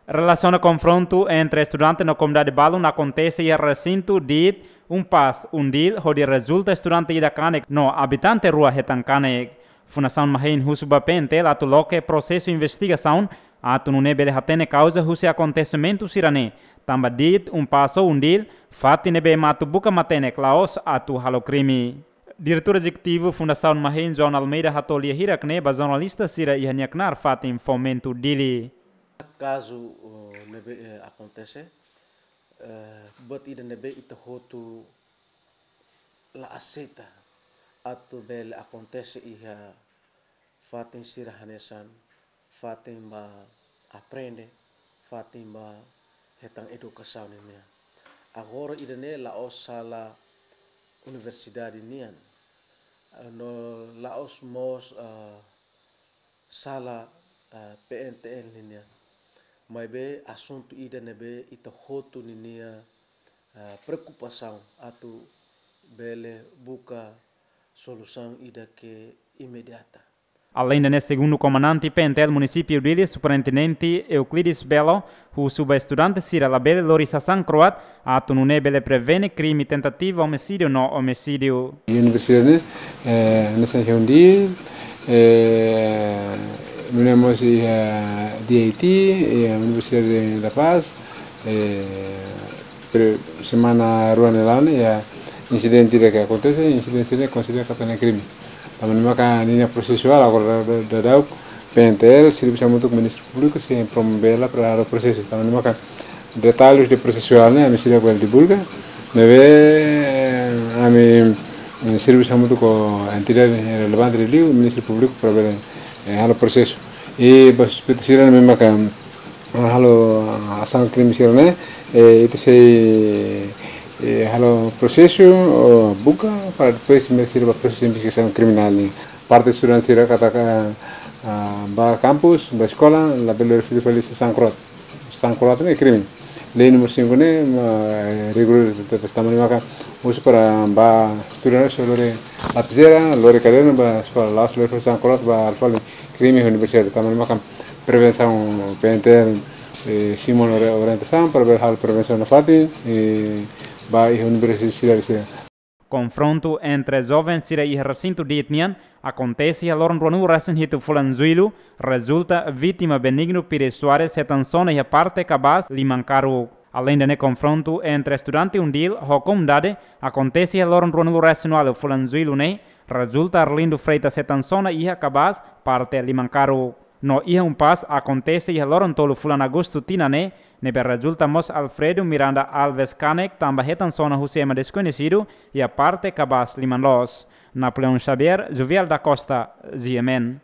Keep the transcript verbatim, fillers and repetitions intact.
Relasiona konfrontu entre estudante no komunidade balun akontese iha resintu diit Unpaz, UNDIL, hodi rezulta estudante ida kanek no abitante rua hetan kanek. Fundasaun Mahein husu ba PNTL atu loke prosesu investigasaun atu nune'e bele hatene kauza husi akontesimentu sira-ne'e, tanba diit Unpaz ho UNDIL fatin ne'ebé ema atu buka matenek la'ós atu halo krime. Diretór Ezekutivu Fundasaun Mahein, João Almeida, hato'o lia hirak-ne'e ba jornalista sira iha nia knaar fatin Fomento, Dili. Kazu, uh, ne'ebé, eh, akontese, eh, buat ida ne'ebé ita hotu la aseita atu bele akontese iha fatin sira hanesan, fatin ba aprende, fatin ba hetan edukasaun nian. Agora ida-ne'e la'ós sala universidade nian, no la'ós mós, ah, sala, ah, PNTL nian. Maibé asuntu ida ne'ebé ita hotu ninia, ah, preokupasaun atu bele buka solusaun ida ke imediata. Aleinde ne'e, segundu komandante PNTL Munisípiu Dili, Superintendente Euclides Belo, husu ba estudante sira labele lori sasán kroat atu nune'e bele prevene krime tentativa omisídiu no omisídiu. Universidade ne'e, eh, hanesan iha UNDIL, eh, nune'e mós iha, eh, DIT, iha Universidade da Paz, eh, pre-, semana rua nia laran ne'e iha insidente ida ke akontese, insidente ne'e konsidera katak ne'e krime. Tanba ne'e maka ninia prosesuál agora da, da, da, daudaun PNTL servisu hamutuk ho Ministériu Públiku sei promove hela para halo prosesu. Tanba ne'e maka detalles de prosesuál ne'e ami seidauk bele divulga. Ne'ebé ami, eh, servisu hamutuk ho entidade relevante liuliu Ministériu Públiku para bele, eh, halo prosesu. I ba suspeitu sira ne'ebé maka halo asaun krime sira-ne'e, eh, ita sei, eh, halo prosesu, oh, buka para depois mete sira ba prosesu investigasaun kriminál nian. Parte estudante sira katak, ah, ba kampus, ba eskola, labele lori fali sasán kroat. Sasán kroat ne'e krime. Lei númeru sinku ne'e, ma, eh, rigorozu tebes, tanba ne'e maka husu para ba estudante sira lori lapizeira, lori kadernu ba eskola, la'ós lori fali sasán kroat ba halo fali krime iha universidade. Tanba ne'e maka prevensaun PNTL, eh, simu ona ori-, orientasaun para bele halo prevensaun nafatin, eh, ba iha universidade sira. Konfrontu entre joven sira iha resintu diit nian akontese iha loron ruanulu resin hitu fulan Jullu, rezulta vítima Benigno Pires Soares hetan sona iha parte kabaas liman karuk. Aleinde ne'e, konfrontu entre estudante UNDIL ho komunidade akontese iha loron ruanulu resin ualu fulan Jullu ne'e, rezulta Arlindo Freitas hetan sona iha kabaas parte liman karuk. No iha Unpaz akontese iha loron tolu fulan Agostu tinan ne'e, ne'ebé rezulta mós Alfredo Miranda Alves kanek tanba hetan sona husi ema deskoñesidu iha parte kabaas liman loos. Napoleão Xavier, Juvial da Costa, GMN.